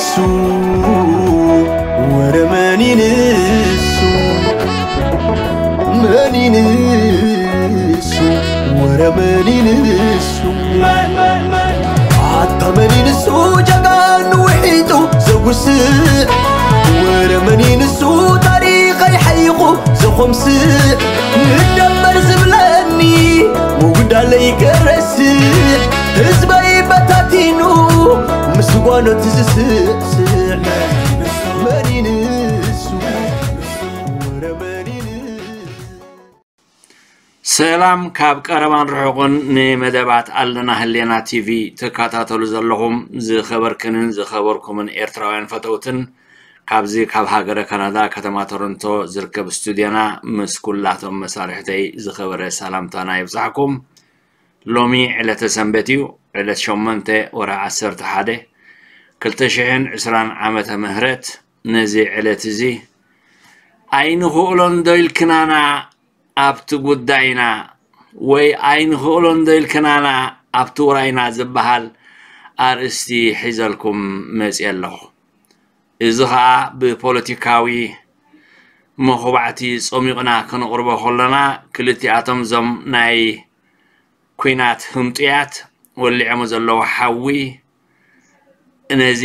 እሱ ወረ መን ይንሱ? መን ይንሱ? ወረ መን ይንሱ? ኣታ መን ይንሱ? ጀጋኑ ውሒጡ ዘጉስእ ወረ መን ይንሱ? ታሪኸይ ሓይቑ ዘኾምስእ ንደመር ዝብለኒ ምጉዳለይ ከረስእ ህዝበይ በታቲኑ ምስ ጓኖት ዝስእስዕ መን ይንሱ? ወረ መን ይንሱ? ሰላም ካብ ቀረባን ርሑቕን ንመደባት ኣለና ህሌና ቲቪ ትከታተሉ ዘለኹም ዝኸበርክንን ዝኸበርኩምን ኤርትራውያን ፈተውትን፣ ካብዚ ካብ ሃገረ ካናዳ ከተማ ቶሮንቶ ዝርከብ ስቱድዮና ምስ ኩላቶም መሳርሕተይ ዝኸበረ ሰላምታና ይብጻሕኩም። ሎሚ ዕለተ ሰንበት እዩ። ዕለት ሸሞንተ ወርሒ ዓሰርተ ሓደ ክልተ ሽሕን ዕስራን ዓመተ ምህረት። ነዚ ዕለት እዚ ኣይንኽእሎን ዶ ኢልክናና ኣብቲ ጉዳይና ወይ ኣይንኽእሎን ዶ ኢልክናና ኣብቲ ውራይና ዝበሃል ኣርእስቲ ሒዘልኩም መፅየ ኣለኹ። እዚ ኸኣ ብፖለቲካዊ መኹባዕቲ ጾሚቕና ክንቕርቦ ከለና፣ ክልቲኣቶም እዞም ናይ ኲናት ህምጡያት ወሊዖሞ ዘለዉ ሓዊ ነዚ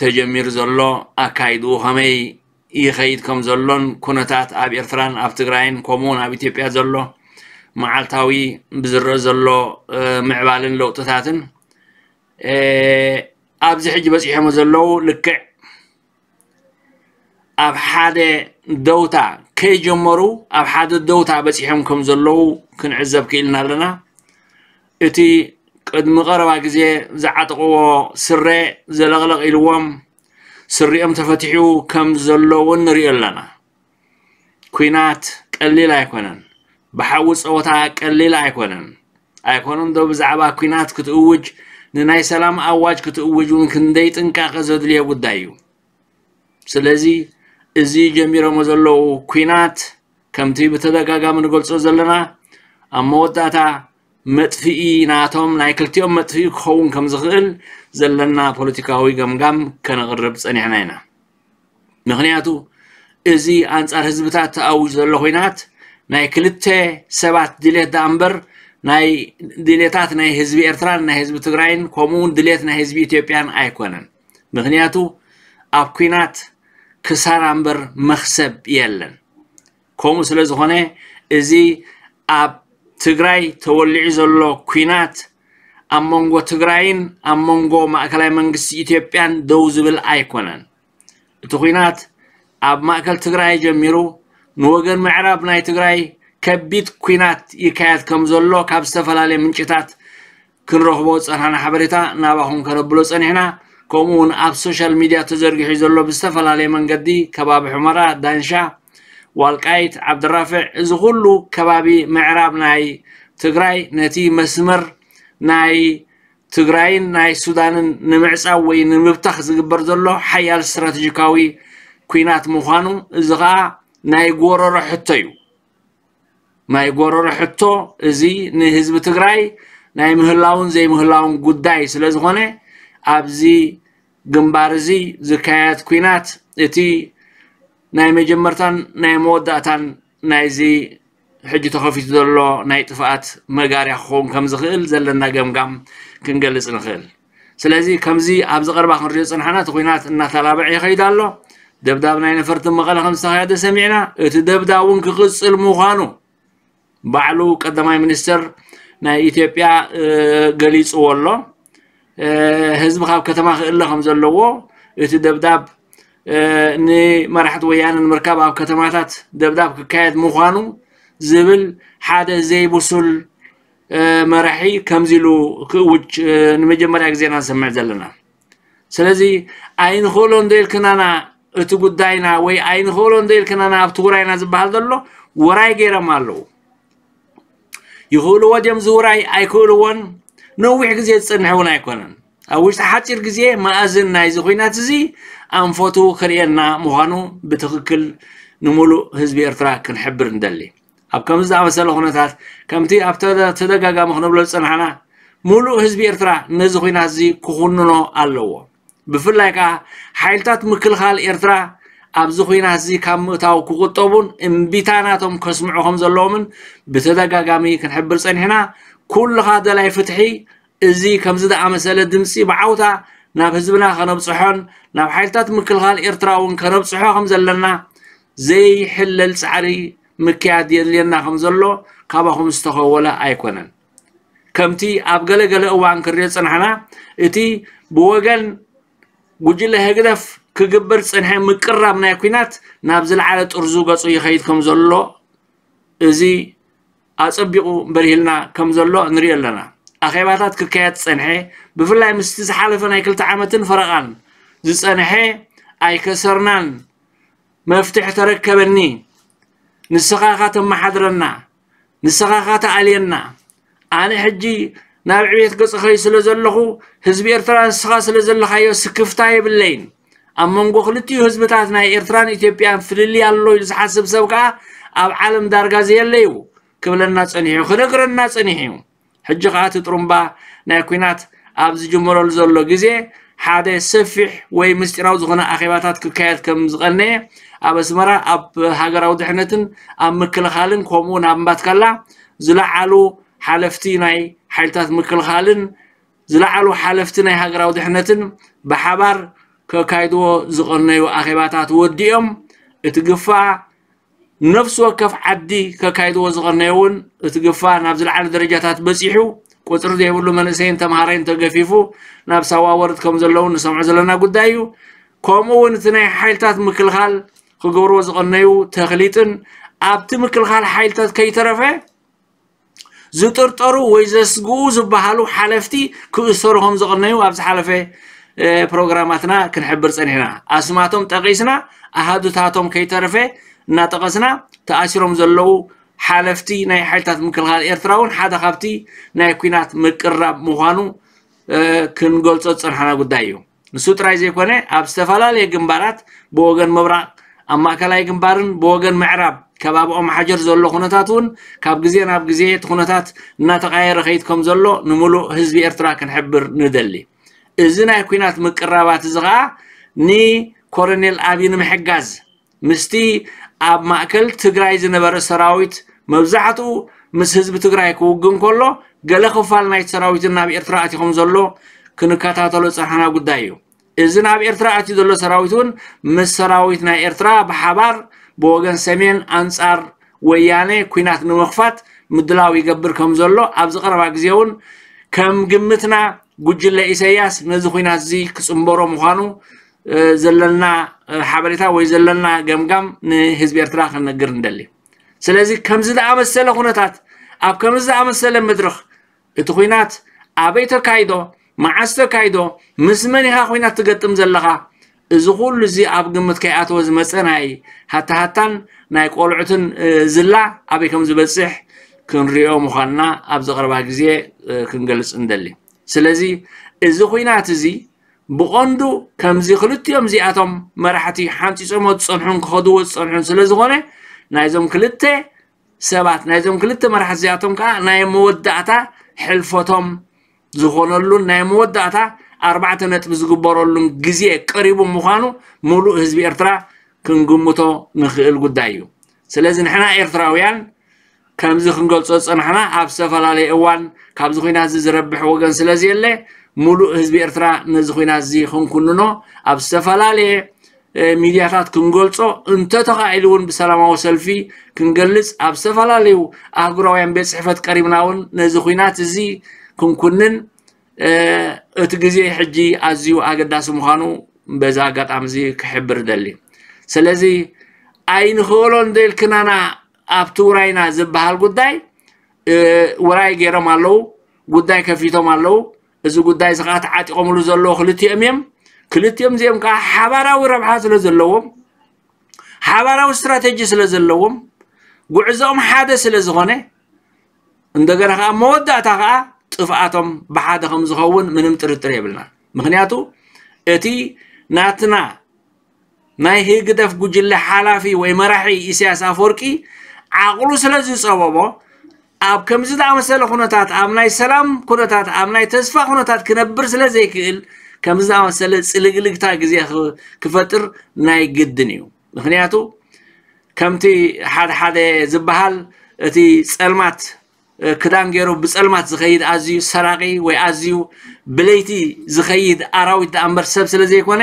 ተጀሚሩ ዘሎ ኣካይድኡ ከመይ ይኸይድ ከም ዘሎን፣ ኩነታት ኣብ ኤርትራን ኣብ ትግራይን ከምኡውን ኣብ ኢትዮጵያ ዘሎ መዓልታዊ ብዝረአ ዘሎ ምዕባልን ለውጥታትን ኣብዚ ሕጂ በፂሖሞ ዘለዉ ልክዕ ኣብ ሓደ ደውታ ከይጀመሩ ኣብ ሓደ ደውታ በፂሖም ከም ዘለዉ ክንዕዘብ ክኢልና ኣለና። እቲ ቅድሚ ቀረባ ግዜ ዝዓጠቕዎ ስረ ዘለቕለቕ ኢልዎም ስሪኦም ተፈቲሑ ከም ዘሎ እውን ንሪኦ ኣለና። ኲናት ቀሊል ኣይኮነን። ብሓዊ ፀወታ ቀሊል ኣይኮነን። ኣይኮነን ዶ ብዛዕባ ኲናት ክትእውጅ ንናይ ሰላም ኣዋጅ ክትእውጅ እውን ክንደይ ጥንቃቐ ዘድልዮ ጉዳይ እዩ። ስለዚ እዚ ጀሚሮሞ ዘለዉ ኲናት ከምቲ ብተደጋጋሚ ንገልጾ ዘለና ኣብ መወዳእታ መጥፍኢ ናቶም ናይ ክልቲኦም መጥፍኢ ክኸውን ከም ዝኽእል ዘለና ፖለቲካዊ ገምጋም ከነቕርብ ጸኒሕና ኢና። ምኽንያቱ እዚ ኣንጻር ህዝብታት ተኣውጅ ዘሎ ኹናት ናይ ክልተ ሰባት ድሌት ደኣ እምበር ናይ ድሌታት ናይ ህዝቢ ኤርትራን ናይ ህዝቢ ትግራይን ከምኡ እውን ድሌት ናይ ህዝቢ ኢትዮጵያን ኣይኮነን። ምኽንያቱ ኣብ ኲናት ክሳራ እምበር መኽሰብ የለን። ከምኡ ስለ ዝኾነ እዚ ኣብ ትግራይ ተወሊዑ ዘሎ ኲናት ኣብ መንጎ ትግራይን ኣብ መንጎ ማእከላይ መንግስቲ ኢትዮጵያን ደው ዝብል ኣይኮነን። እቲ ኲናት ኣብ ማእከል ትግራይ ጀሚሩ ንወገን ምዕራብ ናይ ትግራይ ከቢድ ኲናት ይካየድ ከም ዘሎ ካብ ዝተፈላለየ ምንጭታት ክንረኽቦ ዝጸናሕና ሓበሬታ ናባኹም ከነብሎ ጸኒሕና። ከምኡ እውን ኣብ ሶሻል ሚድያ ተዘርጊሑ ዘሎ ብዝተፈላለየ መንገዲ ከባቢ ሑመራ፣ ዳንሻ፣ ዋልቃይት፣ ዓብድራፍዕ፣ እዚ ኩሉ ከባቢ ምዕራብ ናይ ትግራይ ነቲ መስመር ናይ ትግራይን ናይ ሱዳንን ንምዕጻው ወይ ንምብታኽ ዝግበር ዘሎ ሓያል ስትራተጂካዊ ኲናት ምዃኑ፣ እዚ ኸኣ ናይ ጎረሮ ሕቶ እዩ። ናይ ጎረሮ ሕቶ እዚ ንህዝቢ ትግራይ ናይ ምህላውን ዘይምህላውን ጉዳይ ስለ ዝኾነ፣ ኣብዚ ግንባር እዚ ዝካየድ ኲናት እቲ ናይ መጀመርታን ናይ መወዳእታን ናይዚ ሕጂ ተኸፊቱ ዘሎ ናይ ጥፍኣት መጋርያ ክኸውን ከም ዝኽእል ዘለና ገምጋም ክንገልጽ ንኽእል። ስለዚ ከምዚ ኣብዚ ቀረባ ክንሪኦ ዝጸናሕና እቲ ኲናት እናተላብዐ ይኸይድ ኣሎ። ደብዳብ ናይ ነፈርቲ መቐለ ከም ዝተኻየደ ሰሚዕና፣ እቲ ደብዳብ እውን ክቕጽል ምዃኑ ባዕሉ ቀዳማይ ሚኒስተር ናይ ኢትዮጵያ ገሊጽዎ ኣሎ። ህዝቢ ካብ ከተማ ክእለ ከም ዘለዎ፣ እቲ ደብዳብ ንመራሕቲ ወያነ ንምርካብ ኣብ ከተማታት ደብዳብ ክካየድ ምዃኑ ዝብል ሓደ ዘይብሱል መራሒ ከምዚ ኢሉ ክእውጅ ንመጀመርያ ግዜና ንሰምዕ ዘለና። ስለዚ ኣይንኽእሎን ዶ ኢልክናና እቲ ጉዳይና ወይ ኣይንኽእሎን ዶ ኢልክናና ኣብቲ ውራይና ዝበሃል ዘሎ ውራይ ገይሮም ኣለዉ። ይኽእልዎ ድዮም ዝውራይ ኣይክእልዎን ነዊሕ ግዜ ዝጸንሕ እውን ኣይኮነን። ኣብ ውሽጢ ሓጺር ግዜ መኣዝን ናይዚ ኹናት እዚ ኣንፈቱ ክርእየና ምዃኑ ብትኽክል ንምሉእ ህዝቢ ኤርትራ ክንሕብር ንደሊ። ኣብ ከምዚ ዝኣመሰለ ኩነታት ከምቲ ኣብ ተደጋጋሚ ክንብሎ ዝጸናሕና ምሉእ ህዝቢ ኤርትራ ነዚ ኹናት እዚ ክኹንኖ ኣለዎ። ብፍላይ ከዓ ሓይልታት ምክልኻል ኤርትራ ኣብዚ ኹናት እዚ ካብ ምእታው ክቁጠቡን እምቢታ ናቶም ከስምዑ ከም ዘለዎምን ብተደጋጋሚ ክንሕብር ጸኒሕና። ኩልኻ ደላይ ፍትሒ እዚ ከምዚ ዝኣመሰለ ድምፂ ብዓውታ ናብ ህዝብና ከነብፅሖን ናብ ሓይልታት ምክልኻል ኤርትራ እውን ከነብፅሖ ከም ዘለና ዘይሕለል ፃዕሪ ምክያድ የድልየና ከም ዘሎ ካባኹም ዝተኸወለ ኣይኮነን። ከምቲ ኣብ ገለገለ እዋን ክንሪኦ ዝፀናሕና እቲ ብወገን ጉጅለ ህግደፍ ክግበር ዝፀንሐ ምቅራብ ናይ ኲናት ናብ ዝለዓለ ጥርዙ ገፁ ይኸይድ ከም ዘሎ እዚ ኣጸቢቑ በሪህልና ከም ዘሎ ንሪኦ ኣለና። ኣኼባታት ክካየድ ዝጸንሐ፣ ብፍላይ ምስቲ ዝሓለፈ ናይ ክልተ ዓመትን ፈረቓን ዝጸንሐ ኣይከሰርናን፣ መፍትሒ ተረከበኒ፣ ንስኻ ኢኻ ተመሓድረና፣ ንስኻ ኢኻ ተኣልየና፣ ኣነ ሕጂ ናብ ዕቤት ገጽ እኸይድ ስለ ዘለኹ ህዝቢ ኤርትራ ንስኻ ስለ ዘለኻዮ ስክፍታ የብለይን። ኣብ መንጎ ክልቲኡ ህዝብታት ናይ ኤርትራን ኢትዮጵያን ፍልልይ ኣሎ ኢሉ ዝሓስብ ሰብ ከኣ ኣብ ዓለም ዳርጋ ዘየለ እዩ ክብለና ጸኒሑ እዩ፣ ክነግረና ጸኒሑ እዩ። ሕጂ ከኣ እቲ ጥሩምባ ናይ ኲናት ኣብ ዝጅመረሉ ዘሎ ግዜ ሓደ ሰፊሕ ወይ ምስጢራዊ ዝኾነ ኣኼባታት ክካየድ ከም ዝቐነየ ኣብ ኣስመራ ኣብ ሃገራዊ ድሕነትን ኣብ ምክልኻልን ከምኡ እውን ኣብ እምባትካላ ዝለዓሉ ሓለፍቲ ናይ ሓይልታት ምክልኻልን ዝለዓሉ ሓለፍቲ ናይ ሃገራዊ ድሕነትን ብሓባር ከካይድዎ ዝቐነዩ ኣኼባታት ወዲኦም እቲ ግፋ ነፍሲ ወከፍ ዓዲ ከካይድዎ ዝቐነዩ እውን እቲ ግፋ ናብ ዝለዓለ ደረጃታት በፂሑ ቁፅሪ ዘይብሉ መንእሰይን ተምሃራይን ተገፊፉ ናብ ሳዋ ወርድ ከም ዘለዉ ንሰምዖ ዘለና ጉዳይ እዩ። ከምኡ እውን እቲ ናይ ሓይልታት ምክልኻል ክገብርዎ ዝቐነዩ ተኽሊጥን ኣብቲ ምክልኻል ሓይልታት ከይተረፈ ዝጥርጠሩ ወይ ዘስግኡ ዝበሃሉ ሓለፍቲ ክእሰሩ ከም ዝቐነዩ ኣብ ዝሓለፈ ፕሮግራማትና ክንሕብር ጸኒሕና። ኣስማቶም ጠቒስና ኣሃዱታቶም ከይተረፈ እናጠቐስና ተኣሲሮም ዘለዉ ሓለፍቲ ናይ ሓይልታት ምክልኻል ኤርትራ እውን ሓደ ካብቲ ናይ ኲናት ምቅራብ ምዃኑ ክንገልጾ ዝጸንሓና ጉዳይ እዩ። ንሱ ጥራይ ዘይኮነ ኣብ ዝተፈላለየ ግንባራት ብወገን ምብራቕ ኣብ ማእከላይ ግንባርን ብወገን ምዕራብ ከባቢ ኦም ሓጀር ዘሎ ኩነታት እውን ካብ ግዜ ናብ ግዜ እቲ ኩነታት እናተቓየረ ከይድ ከም ዘሎ ንምሉእ ህዝቢ ኤርትራ ክንሕብር ንደሊ። እዚ ናይ ኲናት ምቅራባት እዚ ኸኣ ንኮረኔል ኣብይ ንምሕጋዝ ምስቲ ኣብ ማእከል ትግራይ ዝነበረ ሰራዊት መብዛሕትኡ ምስ ህዝቢ ትግራይ ክውግን ከሎ ገለ ክፋል ናይቲ ሰራዊት ናብ ኤርትራ ኣትዩ ከም ዘሎ ክንከታተሎ ዝጸንሓና ጉዳይ እዩ። እዚ ናብ ኤርትራ ኣትዩ ዘሎ ሰራዊት እውን ምስ ሰራዊት ናይ ኤርትራ ብሓባር ብወገን ሰሜን ኣንጻር ወያነ ኲናት ንምኽፋት ምድላው ይገብር ከም ዘሎ ኣብዚ ቀረባ ግዜ እውን ከም ግምትና ጉጅለ ኢሰያስ ነዚ ኲናት እዚ ክጽንበሮ ምዃኑ ዘለና ሓበሬታ ወይ ዘለና ገምጋም ንህዝቢ ኤርትራ ክንነግር ንደሊ። ስለዚ ከምዚ ዝኣመሰለ ኩነታት ኣብ ከምዚ ዝኣመሰለ መድረኽ እቲ ኲናት ኣበይ ተካይዶ፣ መዓስ ተካይዶ፣ ምስ መን ኢኻ ኲናት ትገጥም ዘለኻ፣ እዚ ኩሉ እዚ ኣብ ግምት ከይኣተወ ዝመጸ ናይ ሃታሃታን ናይ ቆልዑትን ዝላ ኣበይ ከም ዝበጽሕ ክንሪኦ ምዃንና ኣብ ዝቐረባ ግዜ ክንገልጽ እንደሊ። ስለዚ እዚ ኲናት እዚ ብቐንዱ ከምዚ ክልቲኦም እዚኣቶም መራሕቲ ሓንፂፆሞ ዝፀንሑን ክኸድዎ ዝፀንሑን ስለ ዝኾነ ናይዞም ክልተ ሰባት ናይዞም ክልተ መራሕቲ እዚኣቶም ከዓ ናይ መወዳእታ ሕልፈቶም ዝኾነሉን ናይ መወዳእታ ኣርባዕተ ነጥቢ ዝግበረሉን ግዜ ቀሪቡ ምዃኑ ሙሉእ ህዝቢ ኤርትራ ክንግምቶ ንኽእል ጉዳይ እዩ። ስለዚ ንሕና ኤርትራውያን ከምዚ ክንገልጾ ዝጸናሕና ኣብ ዝተፈላለየ እዋን ካብዚ ኲናት እዚ ዝረብሕ ወገን ስለ ዘየለ ሙሉእ ህዝቢ ኤርትራ ነዚ ኲናት እዚ ክንኩንኖ ኣብ ዝተፈላለየ ሚድያታት ክንገልጾ እንተተኻኢሉ እውን ብሰላማዊ ሰልፊ ክንገልጽ ኣብ ዝተፈላለዩ ኣህጉራውያን ቤት ጽሕፈት ቀሪብና እውን ነዚ ኲናት እዚ ክንኩንን እቲ ግዜ ሕጂ ኣዝዩ ኣገዳሲ ምዃኑ በዚ ኣጋጣሚ እዚ ክሕብር እደሊ። ስለዚ ኣይንኽእሎን እንተኢልክናና ኣብቲ ውራይና ዝበሃል ጉዳይ ውራይ ገይሮም ኣለዉ፣ ጉዳይ ከፊቶም ኣለዉ። እዚ ጉዳይ እዚ ከዓ ተዓጢቖምሉ ዘለዉ ክልቲኦም እዮም። ክልቲኦም እዚኦም ከዓ ሓባራዊ ረብሓ ስለ ዘለዎም ሓባራዊ ስትራቴጂ ስለ ዘለዎም ጉዕዞኦም ሓደ ስለ ዝኾነ እንደገና ከዓ መወዳእታ ከዓ ጥፍኣቶም ብሓደ ከም ዝኸውን ምንም ጥርጥር የብልና። ምክንያቱ እቲ ናትና ናይ ህግደፍ ጉጅለ ሓላፊ ወይ መራሒ ኢሳያስ ኣፈወርቂ ዓቕሉ ስለ ዝፀበቦ ኣብ ከምዚ ዝኣመሰለ ኩነታት ኣብ ናይ ሰላም ኩነታት ኣብ ናይ ተስፋ ኩነታት ክነብር ስለ ዘይክእል ከምዚ ዝኣመሰለ ጽልግልግታ ግዜ ክፈጥር ናይ ግድን እዩ። ምኽንያቱ ከምቲ ሓደ ሓደ ዝበሃል እቲ ጸልማት ክዳን ገይሩ ብጸልማት ዝኸይድ ኣዝዩ ሰራቒ ወይ ኣዝዩ ብለይቲ ዝኸይድ ኣራዊት ደኣ እምበር ሰብ ስለ ዘይኮነ፣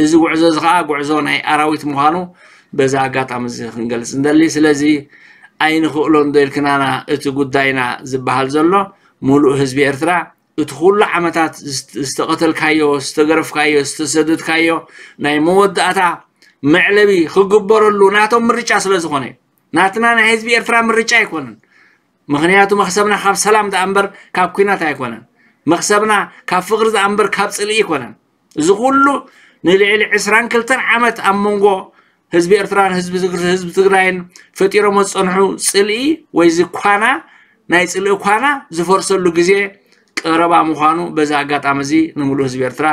እዚ ጉዕዞ እዚ ኸዓ ጉዕዞ ናይ ኣራዊት ምዃኑ በዚ ኣጋጣሚ እዚ ክንገልጽ እንደሊ። ስለዚ ኣይንኽእሎን ዶ ኢልክናና እቲ ጉዳይና ዝበሃል ዘሎ፣ ሙሉእ ህዝቢ ኤርትራ እቲ ኩሉ ዓመታት ዝተቐተልካዮ፣ ዝተገረፍካዮ፣ ዝተሰደድካዮ ናይ መወዳእታ መዕለቢ ክግበረሉ ናቶም ምርጫ ስለ ዝኾነ፣ ናትና ናይ ህዝቢ ኤርትራ ምርጫ ኣይኮነን። ምኽንያቱ መኽሰብና ካብ ሰላም ደኣ እምበር ካብ ኲናት ኣይኮነን። መኽሰብና ካብ ፍቕሪ ደኣ እምበር ካብ ጽልኢ ኣይኮነን። እዚ ኩሉ ንልዕሊ ዕስራን ክልተን ዓመት ኣብ መንጎ ህዝቢ ኤርትራን ህዝቢ ትግራይን ፈጢሮሞ ዝጸንሑ ጽልኢ ወይ እዚ ኳና ናይ ጽልኢ ኳና ዝፈርሰሉ ግዜ ቀረባ ምዃኑ በዚ ኣጋጣሚ እዚ ንምሉእ ህዝቢ ኤርትራ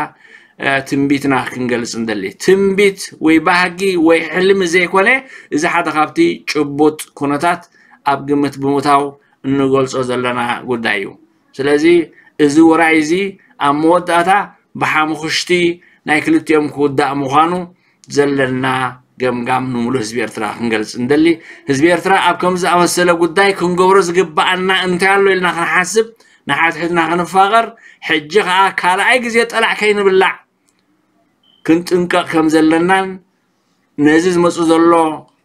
ትንቢትና ክንገልጽ እንደሊ። ትንቢት ወይ ባህጊ ወይ ሕልሚ ዘይኮነ፣ እዚ ሓደ ካብቲ ጭቡጥ ኩነታት ኣብ ግምት ብምእታው እንገልጾ ዘለና ጉዳይ እዩ። ስለዚ እዚ ውራይ እዚ ኣብ መወዳእታ ብሓሙኽሽቲ ናይ ክልቲኦም ክውዳእ ምዃኑ ዘለና ገምጋም ንምሉእ ህዝቢ ኤርትራ ክንገልጽ እንደሊ። ህዝቢ ኤርትራ ኣብ ከምዚ ዝኣመሰለ ጉዳይ ክንገብሮ ዝግብኣና እንታይ ኣሎ ኢልና ክንሓስብ፣ ንሓድሕድና ክንፋቐር፣ ሕጂ ኸኣ ካልኣይ ግዜ ጠላዕ ከይንብላዕ ክንጥንቀቕ ከም ዘለናን ነዚ ዝመጽእ ዘሎ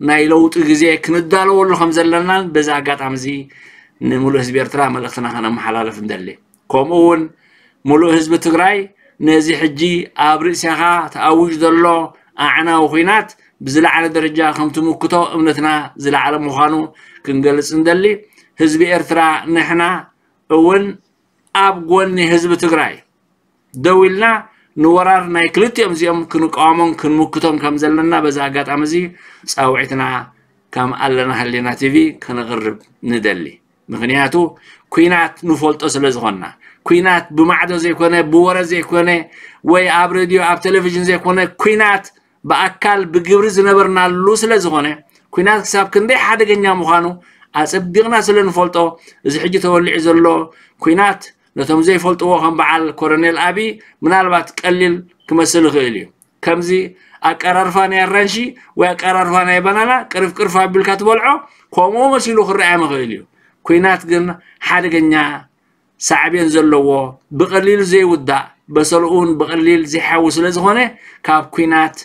ናይ ለውጢ ግዜ ክንዳለወሉ ከም ዘለናን በዚ ኣጋጣሚ እዚ ንምሉእ ህዝቢ ኤርትራ መልእኽትና ከነመሓላልፍ እንደሊ። ከምኡ እውን ምሉእ ህዝቢ ትግራይ ነዚ ሕጂ ኣብ ርእሲኻ ተኣውጅ ዘሎ ኣዕናዊ ኹናት ብዝለዓለ ደረጃ ከም ትምክቶ እምነትና ዝለዓለ ምዃኑ ክንገልጽ እንደሊ። ህዝቢ ኤርትራ ንሕና እውን ኣብ ጎኒ ህዝቢ ትግራይ ደው ኢልና ንወራር ናይ ክልቲኦም እዚኦም ክንቃወሞን ክንምክቶን ከም ዘለና በዚ ኣጋጣሚ እዚ ጻውዒትና ከም ኣለና ህሊና ቲቪ ከነቕርብ ንደሊ። ምኽንያቱ ኲናት ንፈልጦ ስለ ዝኾንና፣ ኲናት ብማዕዶ ዘይኮነ፣ ብወረ ዘይኮነ፣ ወይ ኣብ ሬድዮ ኣብ ቴሌቪዥን ዘይኮነ፣ ኲናት ብኣካል ብግብሪ ዝነበርናሉ ስለ ዝኾነ፣ ኲናት ክሳብ ክንደይ ሓደገኛ ምዃኑ ኣጸቢቕና ስለ ንፈልጦ፣ እዚ ሕጂ ተወሊዑ ዘሎ ኲናት ነቶም ዘይፈልጥዎ ከም በዓል ኮሎኔል ኣቢ ምናልባት ቀሊል ክመስል ይኽእል እዩ። ከምዚ ኣቀራርፋ ናይ ኣራንሺ ወይ ኣቀራርፋ ናይ ባናና ቅርፍ ቅርፍ ኣቢልካ ትበልዖ፣ ከምኡ መሲሉ ክረኣዮም ይኽእል እዩ። ኲናት ግን ሓደገኛ ሳዕቤን ዘለዎ፣ ብቐሊሉ ዘይውዳእ፣ በሰልኡ እውን ብቐሊል ዘይሓዊ ስለ ዝኾነ፣ ካብ ኲናት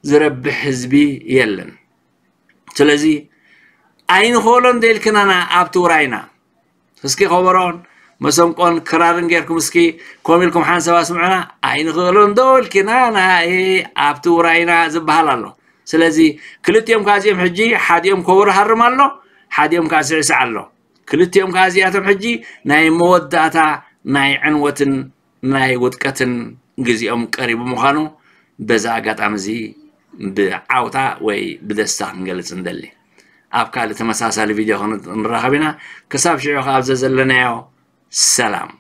ዝረብሕ ህዝቢ የለን። ስለዚ ኣይንኽእሎን ዶ ኢልክናና ኣብቲ ውራይና? እስኪ ከበሮን መሰንቆን ክራርን ጌርኩም እስኪ ኮም ኢልኩም ሓንሳብ ኣስምዑና። ኣይንኽእሎን ዶ ኢልክናና ኣብቲ ውራይና ዝበሃል ኣሎ። ስለዚ ክልቲኦም ከኣ እዚኦም ሕጂ ሓዲኦም ከበሮ ሃርም ኣሎ፣ ሓዲኦም ከኣ ስዕስዕ ኣሎ። ክልቲኦም ከኣ እዚኣቶም ሕጂ ናይ መወዳእታ ናይ ዕንወትን ናይ ውድቀትን ግዜኦም ቀሪቡ ምዃኑ በዚ ኣጋጣሚ እዚ ብዓውታ ወይ ብደስታ ክንገልጽ ንደሊ። ኣብ ካልእ ተመሳሳሊ ቪድዮ ክንራኸብ ኢና። ክሳብ ሽዑ ከኣ ኣብ ዘዘለናዮ ሰላም።